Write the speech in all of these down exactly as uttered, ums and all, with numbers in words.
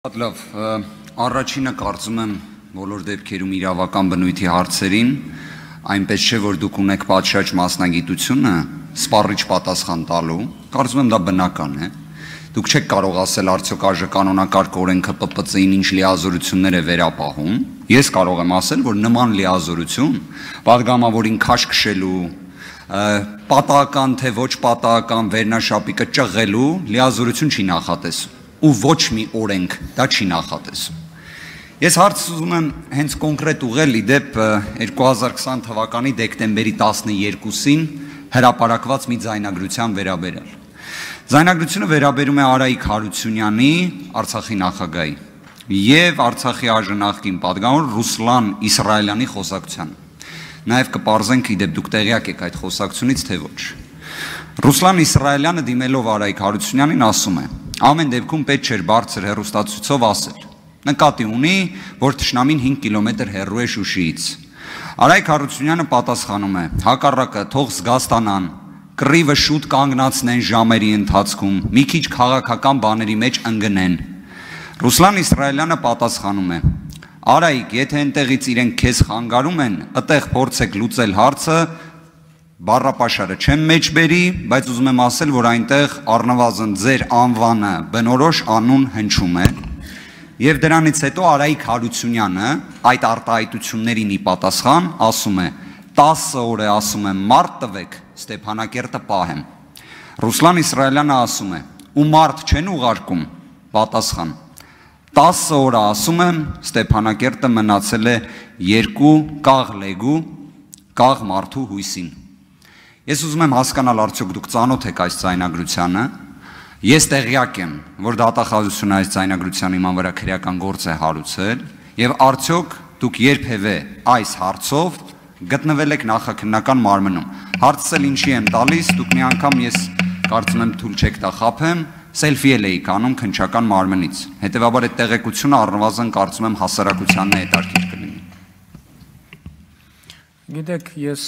Լավ, առաջինը կարծում եմ բոլոր դեպքերում իրավական բնույթի հարցերին, այնպես չէ, որ դուք ունեք պատշաճ մասնագիտությունը սպառիչ պատասխան տալու, կարծում եմ դա բնական է, դուք չեք կարող ասել արդյոք ԱԺ կանոնակարգ օրենքը Պ Պ Ծ-ին ինչ լիազորություններ է վերապահում, ես կարող եմ ասել, որ նման լիազորություն պատգամավորին քաշ քշելու, պատահական թե ոչ պատահական վերնաշապիկը ճղղելու լիազորություն չի նախատեսում ու ոչ մի օրենք դա չի նախատեսում։ Ես հարց ուզում եմ հենց կոնկրետ ուղղել իդեպ երկու հազար քսան թվականի դեկտեմբերի տասներկուսին հրապարակված մի ձայնագրության վերաբերյալ։ Ձայնագրությունը վերաբերում է Արայիկ Հարությունյանի, Արցախի նախագահի եւ Արցախի ԱԺ նախկին պատգամավոր Ռուսլան Իսրայելյանի խոսակցությանը։ Նաեւ կպարզենք իդեպ դուք տեղյակ եք այդ խոսակցությունից թե ոչ։ Ռուսլան Իսրայելյանը դիմելով Արայիկ Հարությունյանին ասում է. ամեն դեպքում պետք չէր բարձր հեռուստացույցով ասել։ Նկատի ունի, որ թշնամին հինգ կիլոմետր հեռու է Շուշիից։ Արայիկ Հարությունյանը պատասխանում է. հակառակը թող զգաստանան, կռիվը շուտ կանգնացնեն ժամերի ընթացքում, մի քիչ քաղաքական բաների մեջ ընկնեն։ Ռուսլան Իսրայելյանը պատասխանում է. Արայիկ, եթե այնտեղից իրենք քեզ խանգարում են, այդտեղ փորձեք լուծել հարցը, բառապաշարը չեմ մեջ բերի, բայց ուզում եմ ասել, որ այնտեղ առնվազն ձեր անվանը բնորոշ անուն հնչում է, եւ դրանից հետո Արայիկ Հարությունյանը այդ արտահայտություններին ի պատասխան ասում է. տասը օր է ասում եմ մարդ տվեք, Ստեփանակերտը պահեմ։ Ռուսլան Իսրայելյանը ասում է. ու մարդ չեն ուղարկում, պատասխան։ տասը օր ասում եմ, Ստեփանակերտը մնացել է երկու կաղ լեգու, կաղ մարդու հույսին։ Ես ուզում եմ հասկանալ արդյոք դուք ծանոթ եք այս ձայնագրությանը, ես տեղյակ եմ, որ դատախազությունը այս ձայնագրության իման վրա քրեական գործ է հարուցել, եւ արդյոք դուք երբևէ այս հարցով գտնվել եք նախաքննական մարմնում։ Հարցս էլ ինչի եմ տալիս, դուք մի անգամ ես կարծում եմ թույլ չեք տա խաբեմ, սելֆի էլ էիք անում քննչական մարմնից։ Հետևաբար այդ տեղեկությունը առնվազն կարծում եմ հասարակությանն է հետաքրքիր կլինի։ Գիտեք, ես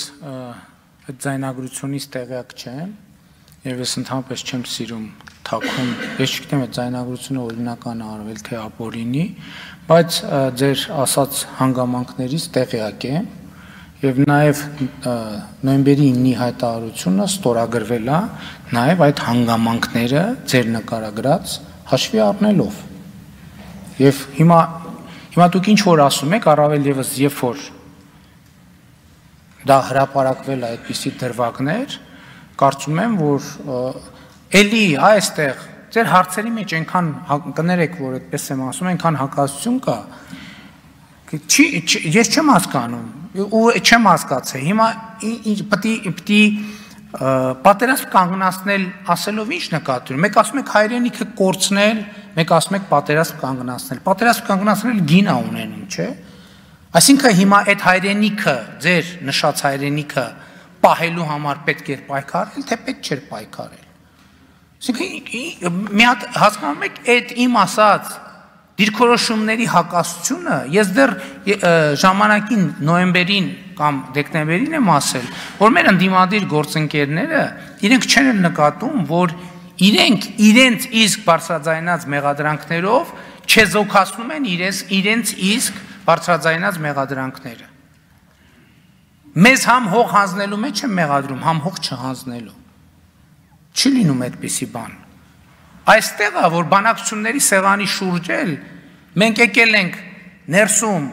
այդ ձայնագրությունից տեղյակ չեմ եւ ես ընդհանրապես չեմ սիրում թաքուն, ես չգիտեմ այդ ձայնագրությունը օրինական է արվել թե ապօրինի, բայց ձեր ասած հանգամանքներից տեղյակ եմ եւ նաեւ նոյեմբերի իննի հայտարարությունը ստորագրվել է նաեւ այդ հանգամանքները ձեր նկարագրած հաշվի առնելով։ Եվ հիմա հիմա դուք ինչ որ ասում եք, առավել եւս երբ որ դա հրապարակվել է այդպիսի դրվագներ, կարծում եմ, որ էլի այստեղ ձեր հարցերի մեջ այնքան կներեք, որ այդպես եմ ասում, այնքան հակասություն կա, ես չեմ հասկանում, ու չեմ հասկացել, հիմա պտի պատերազմ կանգնացնել ասելով ինչ նկատի ունի, մեկ ասում եք հայրենիքը կորցնել, մեկ ասում եք պատերազմ կանգնացնել, պատերազմ կանգնացնել գին է ունենում, չէ՞։ Այսինքն հիմա այդ հայրենիքը, ձեր նշած հայրենիքը պահելու համար պետք էր պայքարել, թե պետք չէր պայքարել։ Այսինքն մի հատ հասկանում եք, այդ իմ ասած դիրքորոշումների հակասությունը, ես դեռ ժամանակին նոյեմբերին կամ դեկտեմբերին եմ ասել, որ մեր ընդդիմադիր գործընկերները իրենք չեն էլ նկատում, որ իրենք իրենց իսկ բարձրաձայնած մեղադրանքներով չեզոքացնում են իրենց իսկ բարձրաձայնած մեղադրանքները։ Մեզ համ հող հանձնելու մեջ եմ մեղադրում, համ հող չհանձնելու։ Չի լինում այդպիսի բան։ Այստեղ է, որ բանակցությունների սեղանի շուրջ էլ մենք եկել ենք ներսում,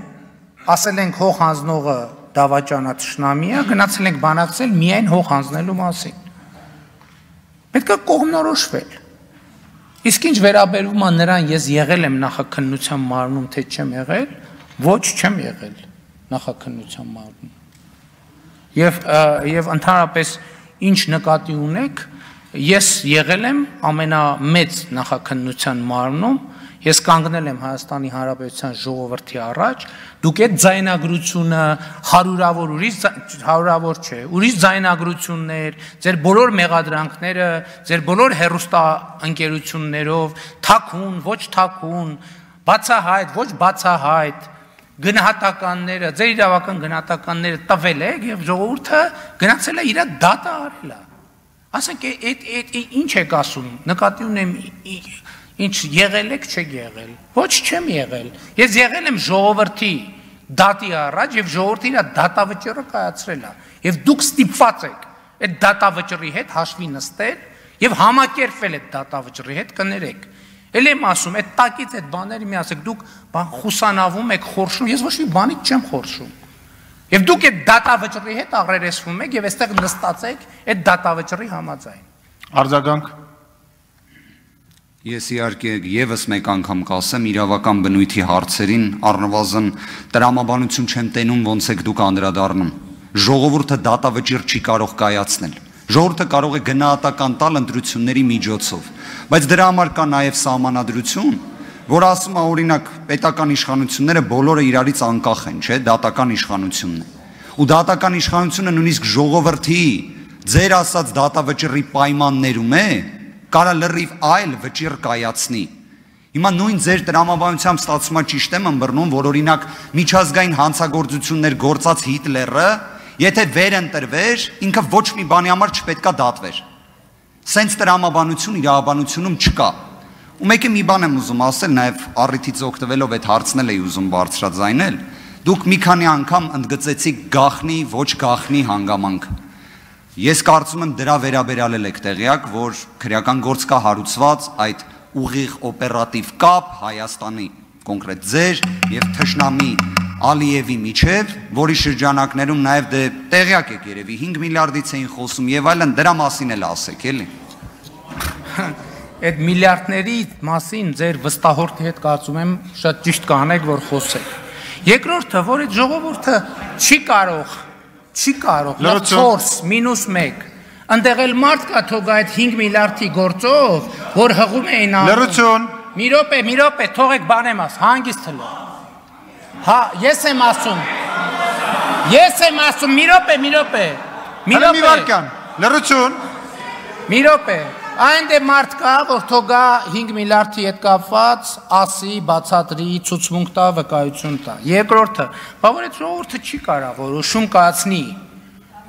ասել ենք հող հանձնողը դավաճանա թշնամի է, գնացել ենք բանակցել միայն հող հանձնելու մասին։ Պետք է կողմնորոշվել։ Իսկ ինչ վերաբերում է նրան, ես եղել եմ նախաքննության մարմնում, թե չեմ եղել, ոչ չեմ եղել նախաքննության մարմնում։ Եվ եւ ընդհանրապես ինչ նկատի ունեք, ես եղել եմ ամենամեծ նախաքննության մարմնում, ես կանգնել եմ Հայաստանի Հանրապետության ժողովրդի առաջ, դուք այդ ձայնագրությունը հարյուրավոր ուրիշ հարյուրավոր չէ, ուրիշ ձայնագրություններ, ձեր բոլոր մեղադրանքները, ձեր բոլոր հեռուստաընկերություններով, թաքուն, ոչ թաքուն, բացահայտ, ոչ բացահայտ գնահատականները, ձեր իրավական գնահատականները տվել եք եւ ժողովուրդը գնացել է իր դատը արել է։ Ասենք այդ ինչ եք ասում, նկատի ունեմ Ինչ եղել եք, չեք եղել։ Ոչ չեմ եղել։ Ես եղել եմ ժողովրդի դատի առաջ եւ ժողովրդի իր դատավճիռը կայացրել է։ Եվ դուք ստիպված եք այդ դատավճիռի հետ հաշվի նստել եւ համակերպվել այդ դատավճիռի հետ կներեք։ Էլ եմ ասում, այդ տակից այդ բաները մի ասեք, դուք բան խուսանավում եք, խորշում, ես ոչ մի բանից չեմ խորշում։ Եվ դուք այդ դատավճիռի հետ աղրերեսվում եք եւ այստեղ նստած եք այդ դատավճիռի համաձայն։ Արձագանք։ Ես իհարկե եւս մեկ անգամ կասեմ իրավական բնույթի հարցերին առնվազն տրամաբանություն չեմ տենում ոնց եք դուք անդրադառնում։ Ժողովուրդը դատավճիռ չի կարող կայացնել։ Ժողովուրդը կարող է գնահատական տալ ընտրությունների միջոցով, բայց դրա համար կա նաև սահմանադրություն, որ ասում է օրինակ պետական իշխանությունները բոլորը իրարից անկախ են, չէ, դատական իշխանությունն է։ Ու դատական իշխանությունը նույնիսկ ժողովրդի ձեր ասած դատավճիռի պայմաններում է, կարա լրիվ այլ վճիռ կայացնի։ Հիմա նույն ձեր տրամաբանությամբ ստացումը ճիշտ եմ ըմբռնում, որ օրինակ միջազգային հանցագործություններ գործած Հիտլերը եթե վեր ընտրվեր, ինքը ոչ մի բանի համար չպետքա դատվեր։ Սենց տրամաբանություն իրավաբանությունում չկա։ Ու մեկը մի բան եմ ուզում ասել, նաև առիթից օգտվելով այդ հարցն էլ էի ուզում բարձրաձայնել։ Դուք մի քանի անգամ ընդգծեցիք գաղտնի, ոչ գաղտնի հանգամանք։ Ես կարծում եմ դրա վերաբերյալ եք տեղյակ, որ քրեական գործ կա հարուցված այդ ուղիղ օպերատիվ կապ Հայաստանի կոնկրետ ձեր եւ թշնամի Ալիևի միջև, որի շրջանակներում նաև դե տեղյակ եք երևի հինգ միլիարդից էին խոսում եւ այլն, դրա մասին էլ ասեք, էլի։ Այդ միլիարդների մասին ձեր վստահորդի հետ կարծում եմ շատ ճիշտ կանեք, որ խոսեք։ Երկրորդը, որ այդ ժողովուրդը չի կարող, չի կարող չորս մինուս մեկ ընդեղ էլ մարդ կա թող այդ հինգ միլիարդի գործով, որ հղում էին անում։ Լրություն։ Մի րոպե, մի րոպե, թողեք բանեմ աս, հանգիստ հլո։ Հա, ես եմ ասում։ Ես եմ ասում, մի րոպե, մի րոպե։ Մի վարքան, լրություն։ Մի րոպե։ Այն դե մարդ կա, որ թողա հինգ միլիարդի հետ կապված, ասի, բացատրի, ցուցմունք տա, վկայություն տա։ Երկրորդը, բա որ այդ ժողովուրդը չի կարող որոշում կայացնի։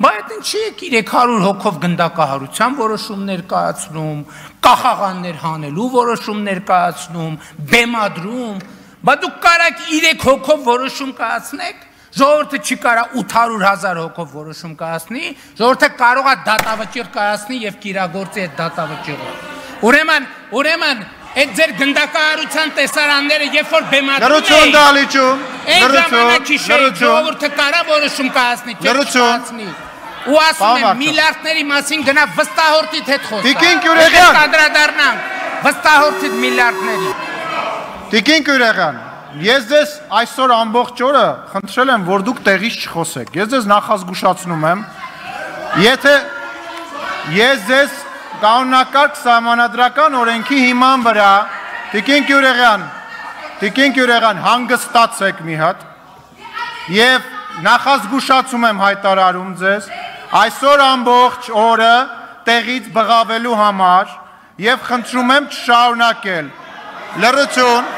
Բա այդ ինչի է երեք հարյուր հոգով գնդակահարության որոշումներ կայացնում, կախաղաններ հանելու որոշումներ կայացնում, բեմադրում, բա դուք կարաք երեք հոգով որոշում կայացնեք, ժողովուրդը չի կարա ութ հարյուր հազար հոգով որոշում կայացնի, ժողովուրդը կարող է դատավճիռ կայացնի եւ կիրագործի այդ դատավճիռը։ Ուրեմն, ուրեմն այդ ձեր գնդակահարության տեսարանները երբ որ բեմադրում էին, լրություն դալիճում, լրություն, ժողովուրդը կարա որոշում կայացնի, լրություն։ Ու ասում եմ միլիարդների մասին գնա վստահորդիդ հետ խոսա։ Տիկին Գյուրեգյան, անդրադառնանք վստահորդիդ միլիարդների։ Տիկին Գյուրեգյան, ես ձեզ այսօր ամբողջ օրը խնդրել եմ, որ դուք տեղից չխոսեք։ Ես ձեզ նախազգուշացնում եմ, եթե ես ձեզ կանոնակարգ սահմանադրական օրենքի հիման վրա, Տիկին Գյուրեգյան, Տիկին Գյուրեգյան, հանգստացեք մի հատ եւ նախազգուշացում եմ հայտարարում ձեզ, այսօր ամբողջ օրը տեղից բղավելու համար եւ խնդրում եմ չշարունակել։ Լրություն,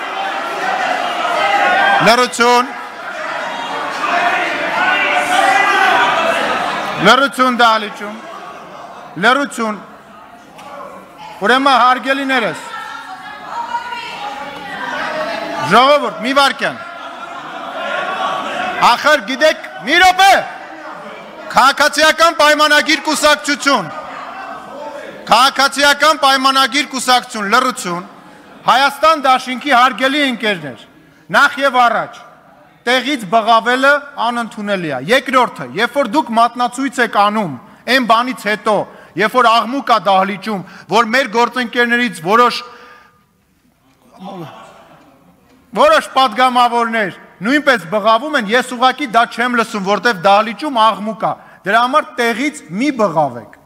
լրություն, լրություն դալիճում, լրություն, ուրեմն հարգելիներս, ժողովուրդ, մի վարքյան, ախր գիտեք, մի րոպե, քաղաքացիական պայմանագիր կուսակցություն, քաղաքացիական պայմանագիր կուսակցություն, լրություն, Հայաստան դաշինքի հարգելի ընկերներ, նախ եւ առաջ, տեղից բղավելը անընդունելի է։ Երկրորդը, երբ որ դուք մատնացույց եք անում, այն բանից հետո, երբ որ աղմուկ է դահլիճում, որ մեր գործընկերներից որոշ որոշ պատգամավորներ նույնպես բղավում են, ես ուղղակի դա չեմ լսում, որտեվ դահլիճում աղմուկ է։ Դրա համար տեղից մի բղավեք։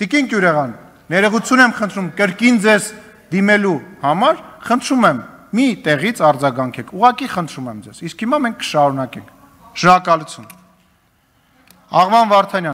Տիկին Գյուրեգյան, ներողություն եմ խնդրում, կրկին ձեզ դիմելու համար, խնդրում եմ, մի տեղից արձագանքեք, ուղղակի խնդրում եմ ձեզ, իսկ հիմա մենք կշարունակենք։ Շնորհակալություն։ Աղման Վարդանյան